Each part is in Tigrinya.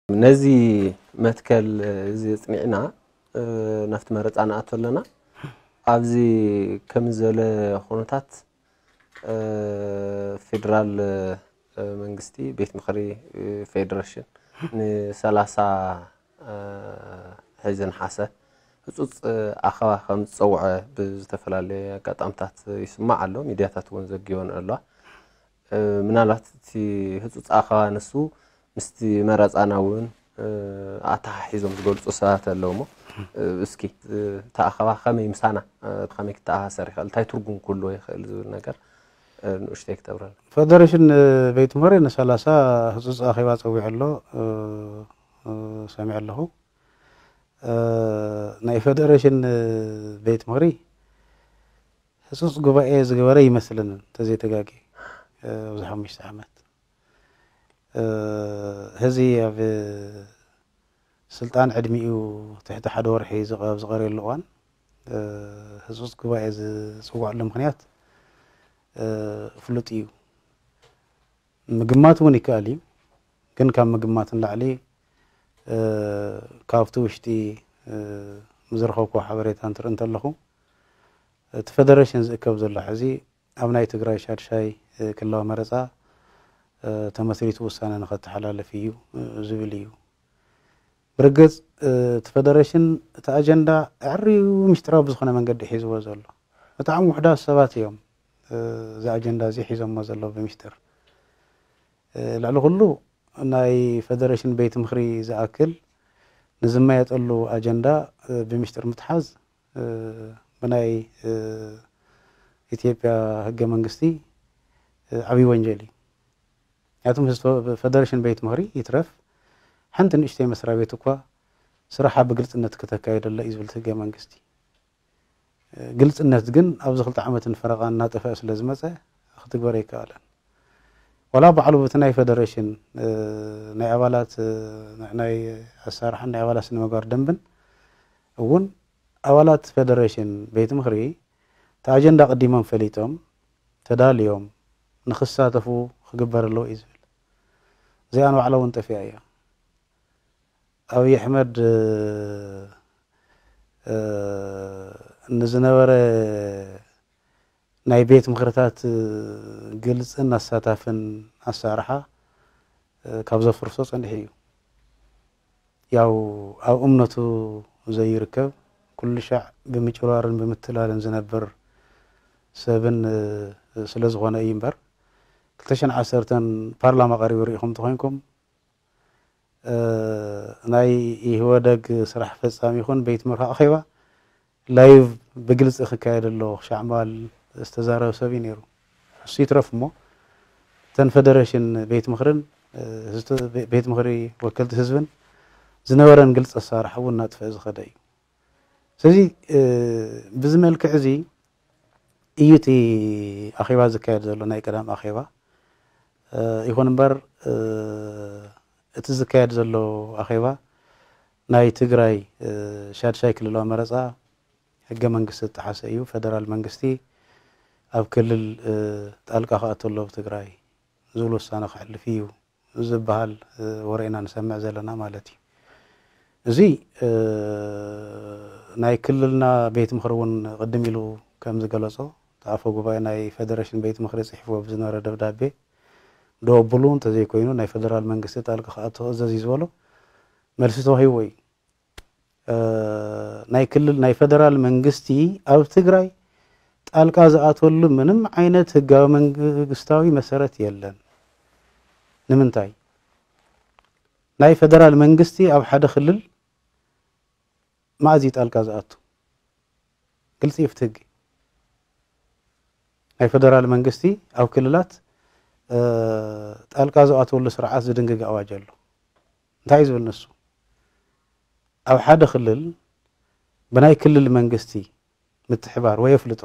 ነዚ መትከል እዚ ኣጽኒዕና ናብቲ መረጻ ንኣቱ ኣለና። ኣብዚ ከም ዘለ ኩነታት ፌደራል መንግስቲ ቤት ምኽሪ ፌደሬሽን ንሰላሳ ሕዚ ነሓሰ ህጹጽ ኣኸባ ከም ዝጸውዐ ብዝተፈላለየ ኣጋጣምታት ይስማዕ ኣሎ። ሚድያታት እውን ዘጊወን ኣለዋ። ምናልባት እቲ ህጹጽ ኣኸባ ንሱ ምስቲ መረጻና እውን ኣተሓሒዞም ዝገልጹ ሰባት ኣለዉ እሞ እስኪ እቲ ኣኸባ ከመይ ምሳና ከመይ ክተኣሳሰር ይኽእል፣ እንታይ ትርጉም ክህልዎ ይኽእል ዝብል ነገር ንኡሽተይ ክተብረና። ፌደሬሽን ቤት ምኽሪ ንሰላሳ ህጹጽ ኣኼባ ጸዊዑ ኣሎ። ሰሚዐ ኣለኹ። ናይ ፌደሬሽን ቤት ምኽሪ ህጹጽ ጉባኤ ዝገበረ ይመስለንን እንተዘይተጋጊ ኣብዚ ሓሙሽተ ዓመት። ህዚ ኣብ ስልጣን ዕድሚኡ ትሕቲ ሓደ ወርሒ ኣብ ዝቐረየሉ እዋን ህጹጽ ጉባኤ ዝጽውዐሉ ምኽንያት ፍሉጥ እዩ። ምግማት እውን ይከኣል እዩ። ግን ካብ ምግማት ንላዕሊ ካብቲ ውሽጢ ዝረኸብኩዎ ሓበሬታ እንትርኢ እንተለኹ እቲ ፌደሬሽን ዝእከብ ዘሎ ሕዚ ኣብ ናይ ትግራይ ሻድሻይ ክልላዊ መረፃ ተመስሪቱ ውሳነ ንኸተሓላልፍ እዩ ዝብል እዩ። ብርግፅ እቲ ፌደሬሽን እቲ ኣጀንዳ ኣዕርዩ ምስጢራዊ ብዝኾነ መንገዲ ሒዝዎ ዘሎ። ብጣዕሚ ውሑዳት ሰባት እዮም እዚ ኣጀንዳ እዚ ሒዞሞ ዘለዉ ብምስጢር። ልዕሊ ኩሉ ናይ ፌደሬሽን ቤት ምኽሪ ዝኣክል ንዝመየጠሉ ኣጀንዳ ብምስጢር ምትሓዝ ብናይ ኢትዮጵያ ህገ መንግስቲ ዓብዪ ወንጀል እዩ። ምክንያቱም ፌደሬሽን ቤት ምኽሪ ይትረፍ ሓንቲ ንእሽተይ መስሪያ ቤት እኳ ስራሓ ብግልፅነት ክተካየደላ እዩ ዝብል ህገ መንግስቲ። ግልፅነት ግን ኣብዚ ክልተ ዓመትን ፈረቓን እናጠፍአ ስለ ዝመፀ ክትግበር ኣይከኣለን። ዋላ ባዕሉ በቲ ናይ ፌደሬሽን ናይ ኣባላት ናይ ኣሰራርሓን ናይ ኣባላት ስነ ምግባር ደንብን እውን ኣባላት ፌደሬሽን ቤት ምኽሪ እቲ ኣጀንዳ ኣቐዲሞም ፈሊጦም ተዳልዮም ንክሳተፉ ክግበር ኣለዎ እዩ ዝብል። እዚኣ ንባዕላ እውን ጠፊኣ እያ። ኣብይ ኣሕመድ ንዝነበረ ናይ ቤት ምኽርታት ግልፅን ኣሳታፍን ኣሰራርሓ ካብ ዘፍርሶ ፀኒሑ እዩ። ያው ኣብ እምነቱ ዘይርከብ ኩሉ ሻዕ ብምጭብራርን ብምትላልን ዝነብር ሰብን ስለ ዝኾነ እዩ እምበር ክልተ ሽሕን ዓሰርተን ፓርላማ ቀሪቡ ርኢኹም እንተኾይንኩም ናይ ኢህወደግ ስራሕ ፈፃሚ ይኹን ቤት ምኽሪ ኣኼባ ላይቭ ብግልፂ ክካየድ ኣሎ ክሻዕ ምባል ዝተዛረበ ሰብ እዩ ነይሩ። እሱ ይትረፍ እሞ እተን ፌደሬሽን ቤት ምኽርን ቤት ምኽሪ ወከልቲ ህዝብን ዝነበረን ግልፂ ኣሰራርሓ እውን እናጥፍአ ዝኸደ እዩ። ስለዚ ብዚ መልክዕ እዚ እዩ እቲ ኣኼባ ዝካየድ ዘሎ ናይ ቀዳም ኣኼባ። ይኹን እምበር እቲ ዝካየድ ዘሎ ኣኼባ ናይ ትግራይ ሻድሻይ ክልላዊ መረፃ ህገ መንግስቲ ዝጠሓሰ እዩ። ፌደራል መንግስቲ ኣብ ክልል ጣልቃ ክኣቱ ኣሎ ብትግራይ ዝብል ውሳነ ከሕልፍ እዩ ዝበሃል ወረ ኢና ንሰምዕ ዘለና ማለት እዩ። እዚ ናይ ክልልና ቤት ምኽሪ እውን ቅድም ኢሉ ከም ዝገለጾ እቲ ኣፈ ጉባኤ ናይ ፌደሬሽን ቤት ምኽሪ ጽሒፍዎ ብዝነበረ ደብዳቤ ደወብሉ እንተዘይኮይኑ ናይ ፌደራል መንግስቲ ጣልቃ ክኣቱ እዘዝ እዩ ዝበሎ መልሲ ተዋሂብዎ እዩ። ናይ ክልል ናይ ፌደራል መንግስቲ ኣብ ትግራይ ጣልቃ ዝኣትወሉ ምንም ዓይነት ህጋዊ መንግስታዊ መሰረት የለን። ንምንታይ ናይ ፌደራል መንግስቲ ኣብ ሓደ ክልል ማእዚ ጣልቃ ዝኣቱ ግልፂ እዩ ፍትህጊ ናይ ፌደራል መንግስቲ ኣብ ክልላት ጣልቃ ዝኣትወሉ ስርዓት ዝድንግግ ኣዋጅ ኣሎ። እንታይ እዩ ዝብል ንሱ ኣብ ሓደ ክልል ብናይ ክልል መንግስቲ ምትሕባር ወይ ኣፍልጦ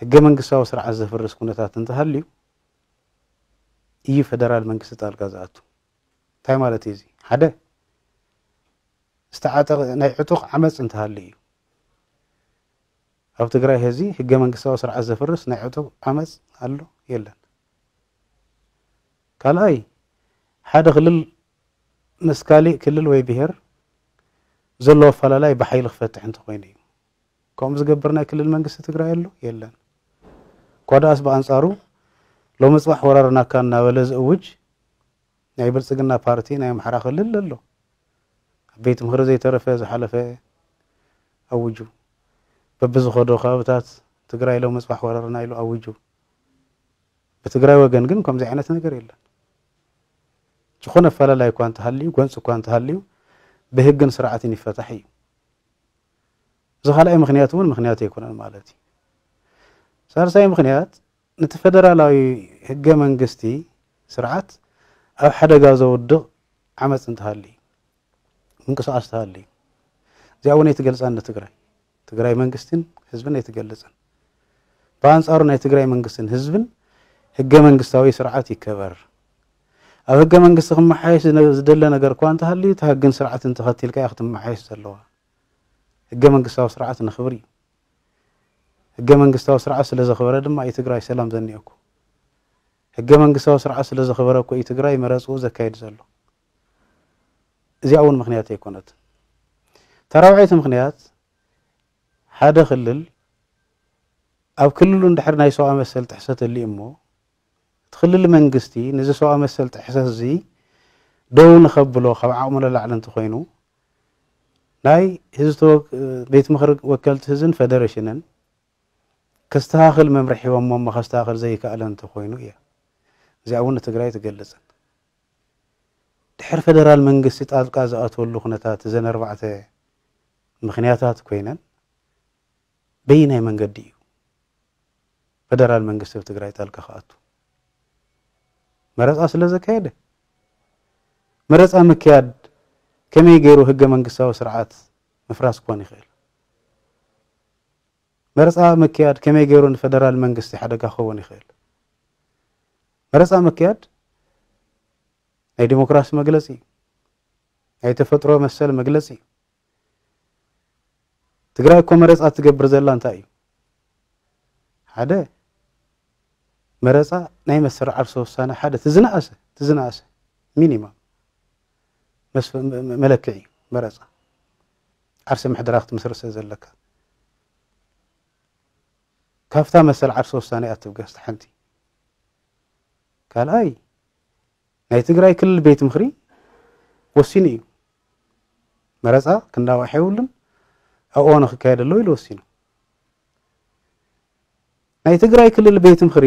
ህገ መንግስታዊ ስርዓት ዘፍርስ ኩነታት እንተሃልዩ እዩ ፌደራል መንግስቲ ጣልቃ ዝኣቱ። እንታይ ማለት እዩ እዚ? ሓደ ዝተዓጠቐ ናይ ዕጡቕ ዓመፅ እንተሃልዩ እዩ። ኣብ ትግራይ ህዚ ህገ መንግስታዊ ስርዓት ዘፍርስ ናይ ዕጡቕ ዓመፅ ኣሎ የለን። ካልኣይ ሓደ ክልል ምስ ካሊእ ክልል ወይ ብሄር ዘለዎ ኣፈላላይ ብሓይሊ ክፈትሕ እንተኾይኑ እዩ። ከምኡ ዝገብር ናይ ክልል መንግስቲ ትግራይ ኣሎ የለን። እኳ ደኣስ ብኣንጻሩ ሎሚ ጽባሕ ወራርናካ እናበለ ዝእውጅ ናይ ብልጽግና ፓርቲ ናይ ኣምሓራ ክልል ኣሎ። ኣብ ቤት ምኽሪ ዘይተረፈ ዝሓለፈ ኣውጁ። በብዝኸዶ ከባብታት ትግራይ ሎሚ ጽባሕ ወራርና ኢሉ ኣውጁ። ብትግራይ ወገን ግን ከምዚ ዓይነት ነገር የለን። ዝኾነ ኣፈላላይ እኳ እንተሃልዩ፣ ጎንፂ እኳ እንተሃልዩ ብህግን ስርዓትን ይፈታሕ እዩ። እዚ ካልኣይ ምኽንያት እውን ምኽንያት ኣይኮነን ማለት እዩ። ሳልሳይ ምኽንያት፣ ነቲ ፈደራላዊ ህገ መንግስቲ ስርዓት ኣብ ሓደጋ ዘውድቕ ዓመፅ እንተሃልዩ፣ ምንቅስቃስ እንተሃልዩ፣ እዚኣ እውን ኣይትገልፃን ንትግራይ። ትግራይ መንግስትን ህዝብን ኣይትገልፅን። ብኣንፃሩ ናይ ትግራይ መንግስትን ህዝብን ህገ መንግስታዊ ስርዓት ይከበር። ኣብ ህገ መንግስቲ ክመሓየሽ ዝነ- ዝደለ ነገር እኳ እንተሃልዩ፣ እቲ ህግን ስርዓትን ተኸቲልካ እያ ክትመሓየሽ ዘለዋ። ህገ መንግስታዊ ስርዓት ነኽብር እዩ። ህገ መንግስታዊ ስርዓት ስለ ዘኽበረ ድማ እዩ ትግራይ ሰላም ዘኒኦኩ። ህገ መንግስታዊ ስርዓት ስለ ዘኽበረ እኮ እዩ ትግራይ መረፅኡ ዘካይድ ዘሎ። እዚኣ እውን ምኽንያት ኣይኮነትን። እታ ራብዐይቲ ምኽንያት፣ ሓደ ክልል ኣብ ክልሉ እንድሕር ናይ ሰብኣዊ መሰል ጥሕሰት ህልዩ እሞ፣ እቲ ክልል መንግስቲ ነዚ ሰብኣዊ መሰል ጥሕሰት እዚ ደው ንኸብሎ ካብ ዓቕሙ ንላዕሊ እንተኾይኑ፣ ናይ ህዝቢ ተወክ- ቤት ምኽሪ ወከልቲ ህዝብን ፌደሬሽንን ከስተኻኽል መምርሒ ሂቦሞ እሞ ከስተኻኽል ዘይከኣለ እንተኾይኑ እያ። እዚኣ እውን ንትግራይ ትገልጽን። ድሕር ፌደራል መንግስቲ ጣልቃ ዝኣትወሉ ኩነታት እዘን ኣርባዕተ ምኽንያታት ኮይነን በየናይ መንገዲ እዩ ፌደራል መንግስቲ ኣብ ትግራይ ጣልቃ ክኣቱ? መረፃ ስለ ዘካየደ፣ መረፃ ምክያድ ከመይ ገይሩ ህገ መንግስታዊ ስርዓት ምፍራስ ክኾን ይኽእል? መረፃ ምክያድ ከመይ ገይሩ ንፌደራል መንግስቲ ሓደጋ ክኸውን ይኽእል? መረፃ ምክያድ ናይ ዲሞክራሲ መግለፂ እዩ። ናይ ተፈጥሮ መሰል መግለፂ እዩ። ትግራይ እኮ መረፃ ትገብር ዘላ እንታይ እዩ? ሓደ መረፃ ናይ መስርዕ ዓርሰ ውሳነ ሓደ እቲ ዝነኣሰ እቲ ዝነኣሰ ሚኒማም መስፈ- መ- መ- መለክዒ እዩ። መረፃ ዓርሰ ምሕደራ ክትምስርት ስለ ዘለካ ካብታ መሰል ዓርሰ ውሳነ እያ ትብገስ ሓንቲ። ካልኣይ ናይ ትግራይ ክልል ቤት ምኽሪ ወሲኑ እዩ። መረፃ ክንዳዋሕ የብሉን፣ ኣብ እዋኑ ክካየድ ኣለዎ ኢሉ ወሲኑ። ናይ ትግራይ ክልል ቤት ምኽሪ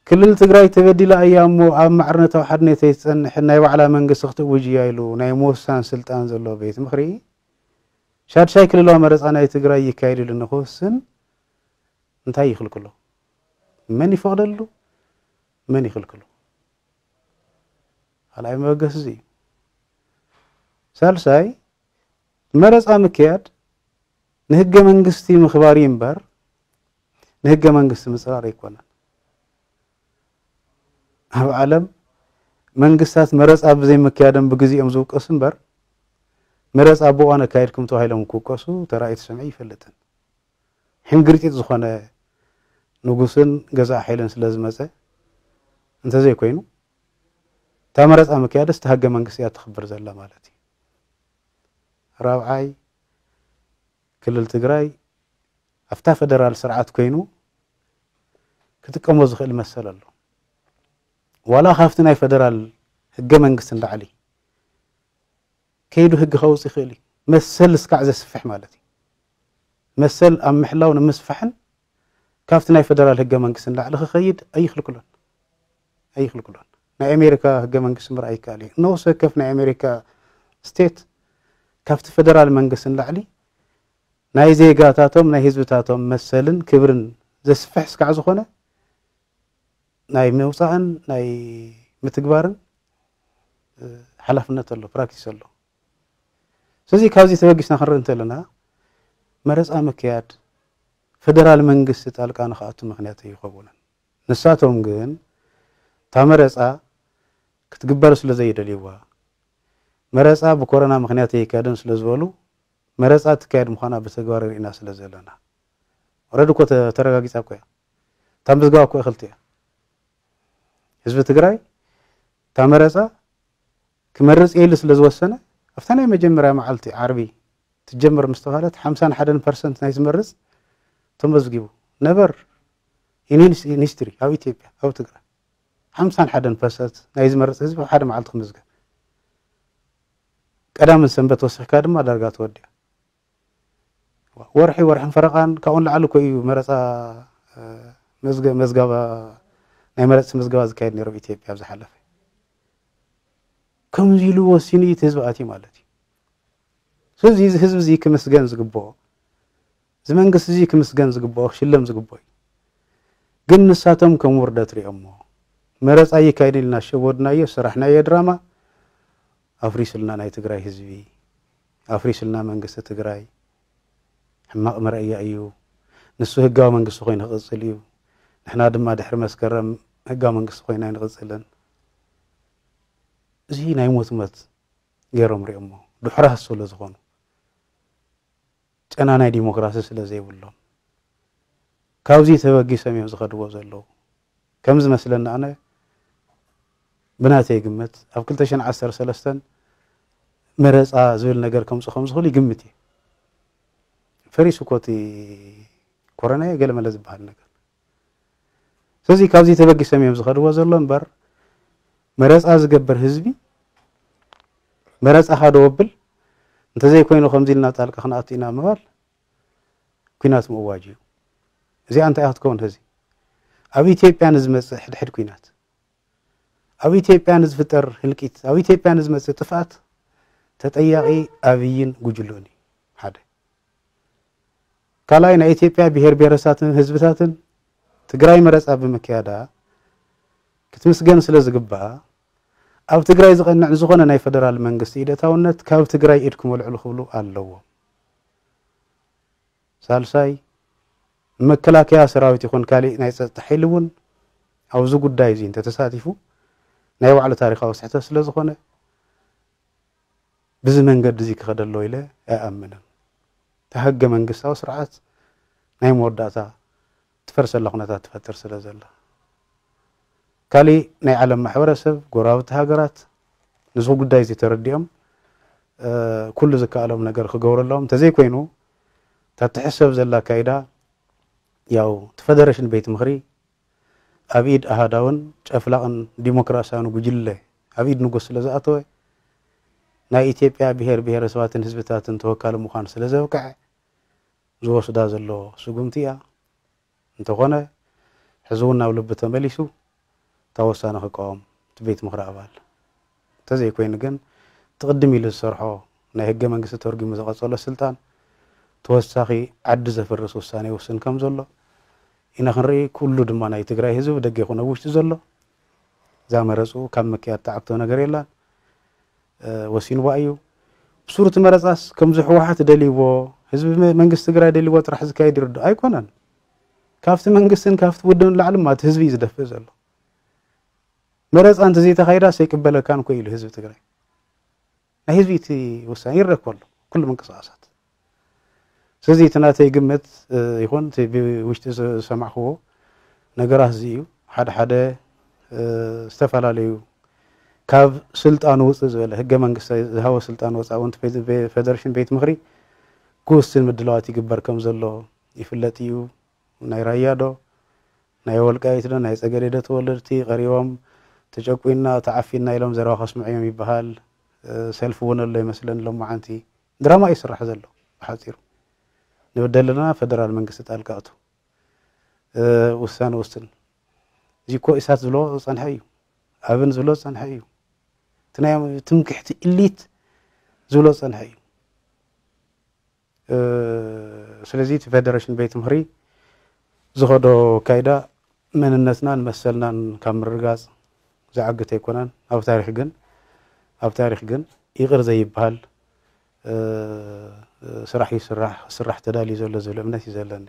ክልል ትግራይ ተበዲላ እያ እሞ ኣብ ማዕርነታዊ ሓድነተይ ትፀንሕን ናይ ባዕላ መንግስቲ ክትእውጅ እያ ኢሉ ናይ ምውሳን ስልጣን ዘለዎ ቤት ምኽሪ ሻድሻይ ክልላዊ መረፃ ናይ ትግራይ ይካየድ ኢሉ ንክውስን እንታይ ይኽልክሎ? መን ይፈቕደሉ? መን ይኽልክሎ? ካልኣይ መበገሲ እዚ እዩ። ሳልሳይ መረፃ ምክያድ ንህገ መንግስቲ ምኽባር እዩ እምበር ንህገ መንግስቲ ምፅራር ኣይኮነን። ኣብ ዓለም መንግስታት መረፃ ብዘይ ምክያዶም ብግዜኦም ዝውቀሱ እምበር መረፃ ብእዋኑ ኣካይድኩም ተባሂሎም ክውቀሱ ተራእዩ ተሰሚዑ ይፈልጥን። ሕንግርጢጥ ዝኾነ ንጉስን ገዛእ ሓይልን ስለ ዝመፀ እንተዘይኮይኑ እታ መረፃ ምክያድስ እታ ህገ መንግስቲ እያ ተኽብር ዘላ ማለት እዩ። ራብዓይ ክልል ትግራይ ኣብታ ፈደራል ስርዓት ኮይኑ ክጥቀሞ ዝኽእል መሰል ኣሎ። ዋላ ካብቲ ናይ ፈደራል ህገ መንግስቲ ንላዕሊ ከይዱ ህጊ ከውፅእ ይኽእል እዩ። መሰል እስካዕ ዘስፍሕ ማለት እዩ። መሰል ኣብ ምሕላው ንምስፋሕን ካብቲ ናይ ፈደራል ህገ መንግስቲ ንላዕሊ ክኸይድ ኣይኽልክሎን ኣይኽልክሎን። ናይ ኣሜሪካ ህገ መንግስቲ ምርኣይ ይከኣል እዩ። ነፍሲ ወከፍ ናይ ኣሜሪካ ስቴት ካብቲ ፈደራል መንግስቲ ንላዕሊ ናይ ዜጋታቶም ናይ ህዝብታቶም መሰልን ክብርን ዘስፍሕ እስካዕ ዝኾነ ናይ ምውፃእን ናይ ምትግባርን ሓላፍነት ኣሎ፣ ፕራክቲስ ኣሎ። ስለዚ ካብዚ ተበጊስና ክንርኢ እንተለና መረፃ ምክያድ ፈደራል መንግስቲ ጣልቃ ንክኣቱ ምክንያት ኣይኸውንን። ንሳቶም ግን እታ መረፃ ክትግበር ስለ ዘይደልይዋ መረፃ ብኮሮና ምክንያት ኣይካየድን ስለ ዝበሉ መረፃ ትካየድ ምዃና ብተግባር ርኢና ስለ ዘለና ረድ እኮ ተረጋጊፃ እኮ እያ። እታ ምዝገባ እኮ እኽልቲ እያ። ህዝቢ ትግራይ እታ መረፃ ክመርጽ እየ ኢሉ ስለ ዝወሰነ፣ ኣብታ ናይ መጀመርያ መዓልቲ ዓርቢ ትጀምር ምስ ተባህለት፣ ሓምሳን ሓደን ፐርሰንት ናይ ዝመርጽ ተመዝጊቡ። ነበር ኢን ሂስትሪ ኣብ ኢትዮጵያ፣ ኣብ ትግራይ ሓምሳን ሓደን ፐርሰንት ናይ ዝመርጽ ህዝቢ ኣብ ሓደ መዓልቲ ክምዝገብ። ቀዳምን ሰንበት ወሲኽካ ድማ ዳርጋ ተወዲኣ። ወርሒ፣ ወርሕን ፈረቓን ካብኡ ንላዕሊ እኮ እዩ መረፃ፣ እ፣ መዝገ-፣ መዝገባ፣ ናይ መረፅቲ ምዝገባ ዝካየድ ነይሩ ኣብ ኢትዮጵያ ኣብ ዝሓለፈ። ከምዚ ኢሉ ወሲኑ እዩ እቲ ህዝቢ ኣትዩ ማለት እዩ። ስለዚ እዚ ህዝቢ እዚ ክምስገን ዝግብኦ፣ እዚ መንግስቲ እዚ ክምስገን ዝግብኦ፣ ክሽለም ዝግብኦ እዩ። ግን ንሳቶም ከም ውርደት ሪኦሞ፣ መረፃ ይካየድ ኢልና ሸወድናዮ፣ ሰራሕናዮ ድራማ፣ ኣፍሪስልና ናይ ትግራይ ህዝቢ፣ ኣፍሪስልና መንግስቲ ትግራይ። ሕማቕ መረኣያ እዩ። ንሱ ህጋዊ መንግስቲ ኮይኑ ክቕጽል እዩ። ንሕና ድማ ድሕሪ መስከረም ህጋዊ መንግስቲ ኮይና ኣይንቕጽልን። እዚ ናይ ሞት ሞት ገይሮም ሪኦሞ፣ ድሑራት ስለ ዝኾኑ፣ ጨና ናይ ዲሞክራሲ ስለ ዘይብሎም፣ ካብዚ ተበጊሶም እዮም ዝኸድዎ ዘለዉ። ከም ዝመስለኒ ኣነ፣ ብናተይ ግምት፣ ኣብ ክልተ ሽሕን ዓሰርተ ሰለስተን መረፃ ዝብል ነገር ከምፁ ከም ዝኽእሉ ይግምት እየ። ፈሪሱ እኮ እቲ ኮረና ገለመለ ዝበሃል ነገር። ስለዚ ካብዚ ተበጊሶም እዮም ዝኸድዎ ዘሎ እምበር፣ መረፃ ዝገብር ህዝቢ፣ መረፃኻ ዶ ወብል፣ እንተዘይኮይኑ ከምዚ ኢልና ጣልቃ ክንኣቱ ኢና ምባል፣ ኲናት ምእዋጅ እዩ። እዚኣ እንታይ እያ ክትከውን? ሕዚ ኣብ ኢትዮጵያ ንዝመፅእ ሕድሕድ ኲናት፣ ኣብ ኢትዮጵያ ንዝፍጠር ህልቂት፣ ኣብ ኢትዮጵያ ንዝመፅእ ጥፍኣት ተጠያቒ ኣብይን ጉጅልኡን እዩ። ሓደ። ካልኣይ፣ ናይ ኢትዮጵያ ብሄር ብሄረሰባትን ህዝብታትን ትግራይ መረፃ ብምክያዳ ክትምስገን ስለ ዝግባኣ፣ ኣብ ትግራይ ዝቐንዕ ዝኾነ ናይ ፈደራል መንግስቲ ኢደታውነት ካብ ትግራይ ኢድኩም ኣልዕሉ ክብሉ ኣለዎም። ሳልሳይ፣ መከላከያ ሰራዊት ይኹን ካሊእ ናይ ፀጥታ ሓይሊ እውን ኣብዚ ጉዳይ እዚ እንተተሳቲፉ ናይ ባዕሉ ታሪኻዊ ስሕተት ስለ ዝኾነ፣ ብዚ መንገዲ እዚ ክኸደ ኣሎ ኢለ ኣይኣምንን። እታ ህገ መንግስታዊ ስርዓት ናይ መወዳእታ ትፈርሰላ ኩነታት ትፈጥር ስለ ዘላ። ካሊእ ናይ ዓለም ማሕበረሰብ፣ ጎረባብቲ ሃገራት ነዚ ጉዳይ እዚ ተረዲኦም፣ እ፣ ኩሉ ዝከኣሎም ነገር ክገብሩ ኣለዎም። እንተዘይኮይኑ፣ እታ ትሕሰብ ዘላ ኣካይዳ፣ ያው፣ እቲ ፈደረሽን ቤት ምኽሪ ኣብ ኢድ ኣሃዳውን ጨፍላቕን ዲሞክራሲያውን ጉጅለ ኣብ ኢድ ንጉስ ስለ ዝኣተወ፣ ናይ ኢትዮጵያ ብሄር ብሄረሰባትን ህዝብታትን ተወካሊ ምዃን ስለ ዘብቅዐ፣ ዝወስዳ ዘሎ ስጉምቲ እያ። እንተኾነ፣ ሕዚ እውን ናብ ልቢ ተመሊሱ፣ እታ ወሳነ ክቃወም እቲ ቤት ምኽሪ ኣባል። እንተዘይኮይኑ ግን፣ እቲ ቅድም ኢሉ ዝሰርሖ ናይ ህገ መንግስቲ ተርጉሙ ዝቐጸሎ ስልጣን፣ ተወሳኺ ዓዲ ዘፍርስ ውሳነ ይውስን ከም ዘሎ ኢና ክንርኢ። ኩሉ ድማ ናይ ትግራይ ህዝቢ፣ ደገ ይኹን ኣብ ውሽጢ ዘሎ፣ እዛ መረፅኡ ካብ ምክያድ ትዓግቶ ነገር የላን። እ፣ ወሲንዋ እዩ። ብሱሩ እቲ መረፃስ ከምዚ ህወሓት ደልይዎ፣ ህዝቢ መ-፣ መንግስቲ ትግራይ ደልይዎ ጥራሕ ዝካየድ ይርድኦ ኣይኮነን። ካብቲ መንግስትን ካብቲ ውድብን ላዕሊ ድማ እቲ ህዝቢ እዩ ዝደፍእ ዘሎ። መረፃ እንተዘይተኻይዳስ ኣይቅበለካን እኮ ኢሉ ህዝቢ ትግራይ። ናይ ህዝቢ እቲ ውሳኔ ይረአ እኮ ኣሎ፣ ኩሉ ምንቅስቓሳት። ስለዚ እቲ ናተይ ግምት፣ እ፣ ይኹን እቲ ብውሽጢ ዝሰማዕክዎ ነገራት እዚ እዩ። ሓደ ሓደ፣ እ፣ ዝተፈላለዩ ካብ ስልጣኑ ውፅእ ዝበለ፣ ህገ መንግስቲ ዝሃቦ ስልጣን ወፃኢ እውን እቲ ፌደ-፣ ፌደሬሽን ቤት ምኽሪ ክውስን ምድላዋት ይግበር ከም ዘሎ ይፍለጥ እዩ። ናይ ራያ ዶ፣ ናይ ወልቃይት ዶ፣ ናይ ጸገዴ ዶ ተወለድቲ ቀሪቦም፣ ተጨቁና፣ ተዓፊና ኢሎም ዘረባ ከስምዑ እዮም ይበሃል። እ፣ ሰልፊ እውን ኣሎ ይመስለኒ ሎማዓንቲ። ድራማ እዩ ዝስራሕ ዘሎ ብሓጺሩ። ንበደል ዘለና፣ ፈደራል መንግስቲ ጣልቃ እቱ፣ እ፣ ውሳነ ውስን። እዚ እኮ ኢሳት ዝብሎ ዝጸንሐ እዩ። ኣብን ዝብሎ ዝጸንሐ እዩ። እቲ ናይ ትምክሕቲ ኢሊት ዝብሎ ዝጸንሐ እዩ። እ፣ ስለዚ እቲ ፌደሬሽን ቤት ምኽሪ ዝኸዶ ኣካይዳ መንነትናን መሰልናን ካብ ምርግጋጽ ዝዓግት ኣይኮነን። ኣብ ታሪኽ ግን፣ ኣብ ታሪኽ ግን ይቕር ዘይበሃል፣ እ፣ ስራሕ ይስራሕ፣ ክስራሕ ተዳልዩ ዘሎ ዝብል እምነት እዩ ዘለኒ።